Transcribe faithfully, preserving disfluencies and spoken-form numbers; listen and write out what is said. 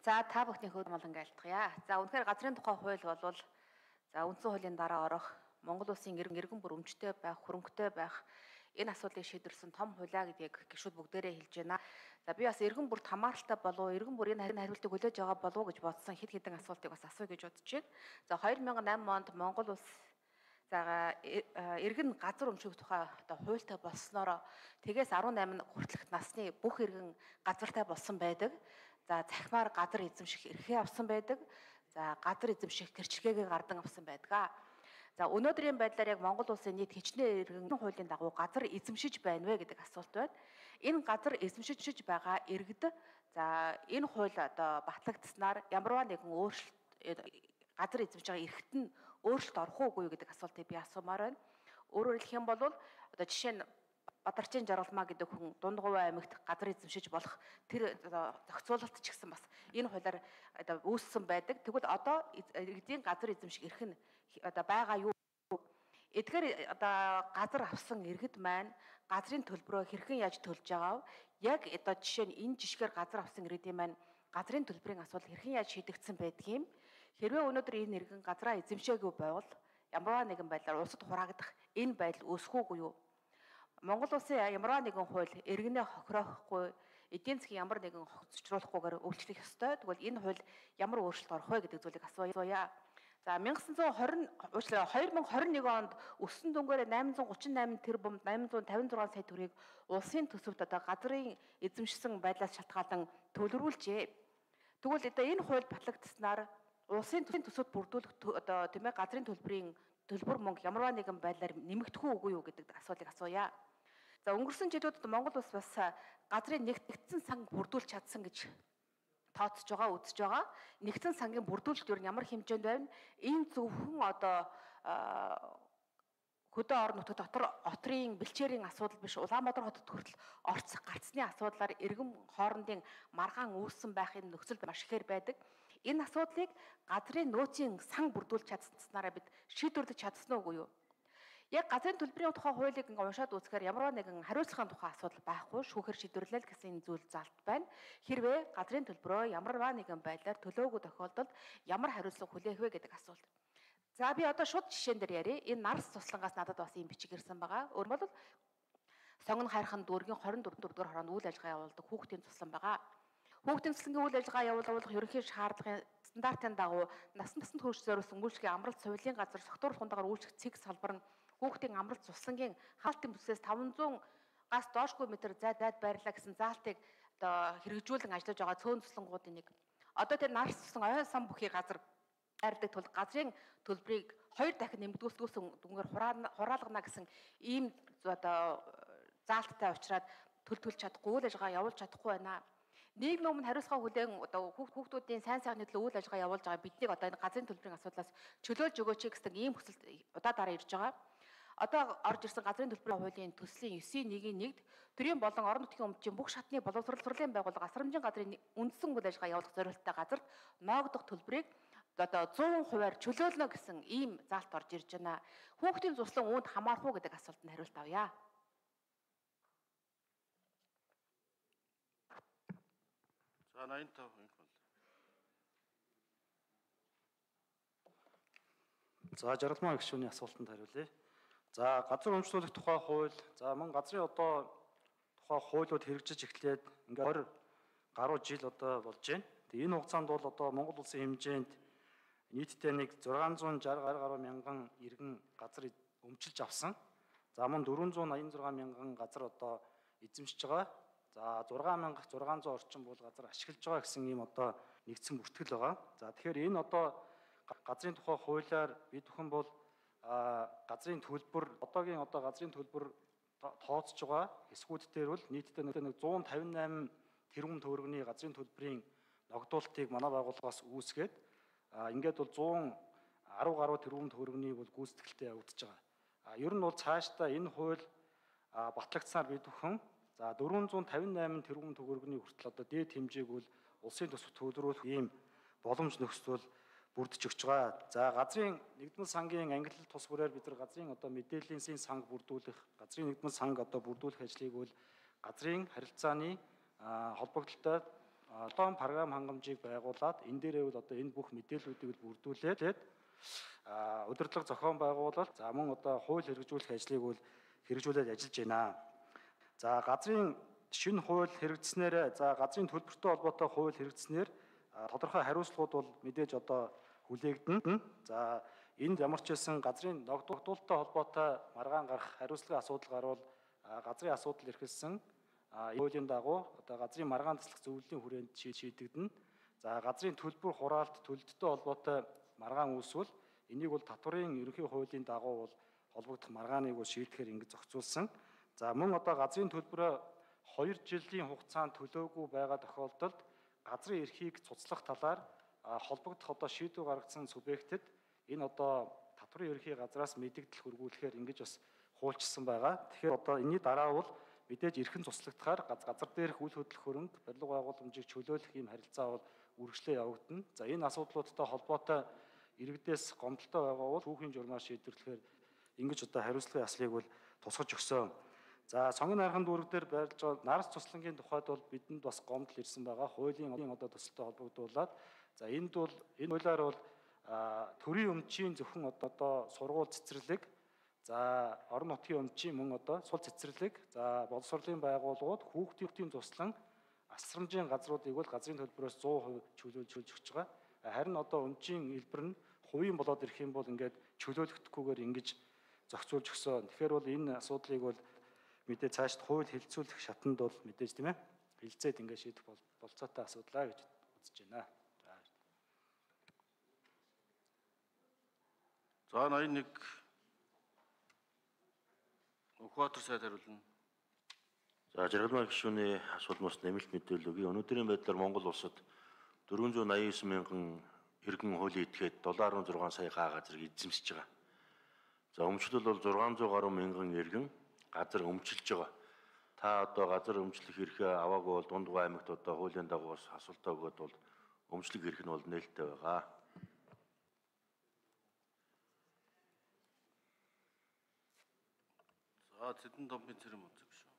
За та бүхний хөөрхөн молон айлтгая. За үнэхээр газрын тухай хууль болвол за үндсэн хуулийн дараа орох Монгол улсын иргэн бүр өмчтэй байх, хөрөнгөтэй байх энэ асуудлыг шийдвэрсэн том хуулиа гэдгийг гишүүд бүгдээрээ хэлж байна. За би бас иргэн бүрт хамааралтай болов, иргэн бүр энэ хариултыг хүлээж байгаа болов уу гэж бодсон хэд хэдэн асуултыг бас асууя гэж бодож байна. За хоёр мянган найман онд Монгол улс за иргэн газар өмших тухай одоо хуультай болсноороо тэгээс арван найман хүртэлх насны бүх иргэн газартай болсон байдаг. За захимаар газар эзэмших эрхээ авсан байдаг. За газар эзэмших гэрчлэгээ гардан авсан байдаг. За өнөөдрийн байдлаар яг Монгол улсын нийт хичнээн иргэн хуулийн дагуу газар эзэмшиж байна вэ гэдэг асуулт байна. Энэ газар эзэмшиж байгаа иргэд за энэ хууль одоо батлагдсанаар ямарваа нэгэн өөрчлөлт газар эзэмшиж байгаа эрхт нь өөрчлөлт орох уугүй гэдэг асуултыг би асуумаар байна. Өөрөөр хэлэх юм бол одоо жишээ нь Бадарчин Жаргалмаа гэдэг хүн Дундгувай аймагт газар эзэмшиж болох тэр зохицуулалт ч гэсэн бас энэ хуулиар одоо үүссэн байдаг. Тэгвэл одоо иргэдийн газар эзэмших эрх нь одоо байгаа юу? Эдгээр одоо газар авсан иргэд маань газрын төлбөрөө хэрхэн яаж төлж байгаа вэ? Яг одоо жишээ нь энэ жишгээр газар авсан иргэдийн маань газрын төлбөрийн асуудал хэрхэн яаж шийдэгдсэн байдг юм? Хэрвээ өнөөдөр энэ иргэн газраа эзэмшээгүй байвал ямарваа нэгэн байдлаар улсад хураагдах энэ байдал үүсэхгүй юу? Монгол улсын ямарваа нэгэн хууль иргэнээ хохироохгүй, эдийн засгийн ямар нэгэн хоцролохгүйгээр өөрчлөх ёстой. Тэгвэл энэ хууль ямар өөрчлөлт орох вэ гэдэг зүйлийг асууя. За 천구 уучлаарай хоёр мянган хорин нэг онд өссөн дүнгээр найман зуун гучин найман тэрбум найман зуун тавин зургаан сая төгрөгийг улсын төсөвт одоо газрын эзэмшсэн байдлаас шалтгаалan төлөвлөжээ. Тэгвэл одоо энэ хууль батлагдсанаар улсын төсөвт бүрдүүлэх одоо тийм ээ газрын төлбөрийн төлбөр мөнгө ямарваа нэгэн байдлаар нэмэгдэх үгүй юу гэдэг асуултыг асууя. За өнгөрсөн жилүүдэд Монгол улс бас газрын нэгтгэгдсэн санг бүрдүүлж чадсан гэж тооцож байгаа, үзэж байгаа. Нэгдсэн сангийн бүрдүүлэлт юу ямар хэмжээнд байна? Энэ зөвхөн одоо хөдөө орон нутаг дотор отрын бэлчээрийн асуудал биш, Улаанбаатар хотод хүртэл орцох гарцны асуудлаар иргэн хоорондын маргаан үүссэн байхын нөхцөл маш ихээр байдаг. Энэ асуудлыг газрын нөөцийн сан бүрдүүлж чадсанараа бид шийдвэрлэж чадсан уу юу? Яг газрын төлбөрийн тухай хуулийг ингээ уншаад үзэхээр ямарваа нэгэн хариуцлагын тухай асуудал байхгүй, шүүхээр шийдвэрлэл гэсэн зүйл залт байна. Хэрвээ газрын төлбөрөө ямарваа нэгэн байдлаар төлөөгүй тохиолдолд ямар хариуцлага хүлээх вэ гэдэг асуулт. За би одоо шууд жишээн дээр ярив. Энэ нарс туслангаас надад бас ийм бичиг ирсэн байгаа. Өөрөөр хэлбэл Сонгон хайрхан дүүргийн хорин дөрвөн дөрвдүгээр хороонд үйл ажиллагаа явуулдаг хүүхдийн туслан байгаа. Хүүхдийн туслангийн үйл ажиллагаа явуулах ерөнхий шаардлагын стандартын дагуу насан туршид хөрш зориулсан үйлчлэгийн амралт соёлын газар согтууруулах хундагаар үйлчлэх цэг салбар нь хүүхдийн амралт туслангийн хаалтын бүсээс таван зуун гас доошгүй метр зайд зайд байрлаа гэсэн заалтыг одоо хэрэгжүүлэн ажиллаж байгаа цөөн туслангуудын нэг. Одоо тэр нарс туслан оюун сан бүхий газар байрдаг тул газрын төлбөрийг хоёр дахин нэмэгдүүлсэн дүнгээр хураалгана гэсэн ийм одоо заалттай учраас төлтөлж чадахгүй, үйл ажиллагаа явуулж чадахгүй байна. Нийгмийн өмнө хариуцлага хүлээн одоо хүүхдүүдийн сайн сайхны төлөө үйл ажиллагаа явуулж байгаа биднийг одоо энэ газрын төлбөрийн асуудлаас чөлөөлж өгөөч гэсэн ийм хүсэлт удаа дараа ирж байгаа. Одоо орж ирсэн газрын төлбөрийн хуулийн төслийн девять нэг нэгд төрийн болон орон нутгийн өмчийн бүх шатны боловсролын байгууллага асрамжийн газрын үндсэн үйл ажиллагаа явуулах зорилттой газарт ноогдох төлбөрийг одоо сто хувиар чөлөөлнө гэсэн ийм заалт орж ирж байна. Хүүхдийн туслан үүнд хамаарах уу гэдэг асуултанд хариулт авъя. За найман тав инх бол. За Жаргалмаа гишүүний асуултанд хариулъя. За газар өмчлөх тухай хууль, за мөн газрын одоо тухай хуулиуд хэрэгжиж эхлээд ингээд хоёр гаруй жил одоо болж байна. Тэгээ энэ хугацаанд бол одоо Монгол улсын хэмжээнд нийтдээ нэг зургаан зуун шарх гаруй мянган иргэн газар өмчилж авсан. За мөн дөрвөн зуун аян зургаан мянган газар одоо эзэмшиж байгаа. За зургаан мянга зургаан зуун орчим бол газар ашиглаж байгаа гэсэн ийм одоо нэгдсэн бүртгэл байгаа. За тэгэхээр энэ одоо газрын тухай хуулиар бид бүхэн бол газрын төлбөр одоогийн одоо газрын төлбөр тооцож байгаа хэсгүүд дээр бол нийтдээ нэг зуун тавин найман тэрбум төгрөгийн газрын төлбөрийн ногдуулалтыг манай байгууллагаас үүсгээд ингээд бол зуун арав гаруй тэрбум төгрөгийн бол гүйцэтгэлтэй явагдаж байгаа. А ер нь бол цаашдаа энэ хууль батлагдсаар бид бүхэн за дөрвөн зуун тавин найман тэрбум төгрөгийн хүртэл одоо дээд хэмжээг бол улсын төсөвт төлрүүлэх ийм боломж нөхцөл бүрдэж өгч байгаа. За газрын нэгдмэл сангийн англи тус бүрээр бид нар газрын одоо мэдээллийн санг бүрдүүлэх, газрын нэгдмэл санг одоо бүрдүүлэх ажлыг бол газрын харилцааны холбогдлолтой одоон програм хангамжийг байгуулад энэ дээрээ бол одоо энэ бүх мэдээллүүдийг бүрдүүлээд удирдлага зохион байгуулалт за мөн одоо хууль хэрэгжүүлэх ажлыг бол хэрэгжүүлээд ажиллаж байна. За газрын шинэ хууль хэрэгжснээр за газрын төлбөртэй холбоотой хууль хэрэгжснээр тодорхой хариуцлагууд бол мэдээж одоо хүлээгдэнэ. За энд ямар ч байсан газрын ногдуулалттай холбоотой маргаан гарах хариуцлагын асуудал гарвал газрын асуудал эрхэлсэн хуулийн дагуу одоо газрын маргаан таслах зөвлөлийн хүрээнд шийдэгдэнэ. За газрын төлбөр хураалт төлөлттэй холбоотой маргаан үүсвэл энийг бол татварын ерөнхий хуулийн дагуу бол холбогдох маргааныг бол шийдэхээр ингэж зохицуулсан. За мөн одоо газрын төлбөрөө хоёр жилийн хугацаанд төлөөгүй байгаа тохиолдолд газрын эрхийг цуцлах талаар холбогдох одоо шийдвэр гаргасан субъектэд энэ одоо татварын ерөнхий газраас мэдэгдэл хөргүүлэхээр ингэж бас хуульчилсан байгаа. Тэгэхээр одоо энэний дараа бол мэдээж эрхэн цуцлагдахаар газар дээрх үйл хөдлөх хөрөнгө барилга байгууламжийг чөлөөлөх ийм харилцаа бол үргэлжлээ явагдана. За энэ асуудлуудтай холбоотой иргэдээс гомдолтой байгаа бол түүхийн журмаар шийдвэрлэхээр ингэж одоо хариуцлагын яслыг бол тусгаж өгсөн. За сонгон нархан дүүрэг дээр байрлаж байгаа нарс цуцлангийн тухайд бол бидэнд бас гомдол ирсэн байгаа. Хуулийн одоо төсөлтэй холбогдуулаад за энд бол энэ хуулиар бол төрийн өмчийн зөвхөн одоо сургууль цэцэрлэг за орон нутгийн өмчийн мөн одоо сул цэцэрлэг за боловсролын байгууллагууд хүүхдийн туслан асрамжийн газруудыг бол газрын төлбөрөөс сто перцент чөлөөлж өгч байгаа. Харин одоо өмчийн хэлбэр нь хувийн болоод ирэх юм бол ингээд чөлөөлөгдөхгүйгээр ингэж зохицуулж өгсөн. Тэгэхээр бол энэ асуудлыг бол мэдээ цаашд хууль хэлцүүлэх шатанд бол мэдээж тийм ээ хилцээд ингээд шийдэх болцоотой асуудлаа гэж үзэж байна. За ноён нэг Ухаатар сайд хариулна. За жаргалмай гишүүний асуулмаас нэмэлт мэдээлэл өгье. Өнөөдрийн байдлаар Монгол улсад дөрвөн зуун аян девять мянган иргэн хуулийн этгээд долоо арван зургаан сая га газрыг эзэмсэж байгаа. За өмчлөл бол зургаан зуун гаруй мянган иргэн газар өмчилж байгаа. Та одоо газар өмчлөх эрхээ аваагүй бол Дундгой аймагт одоо хуулийн дагуу бас асуултаа өгөөд бол өмчлөх эрх нь бол нээлттэй байгаа. За Цэдэн домбын цэрэм үзэг шүү.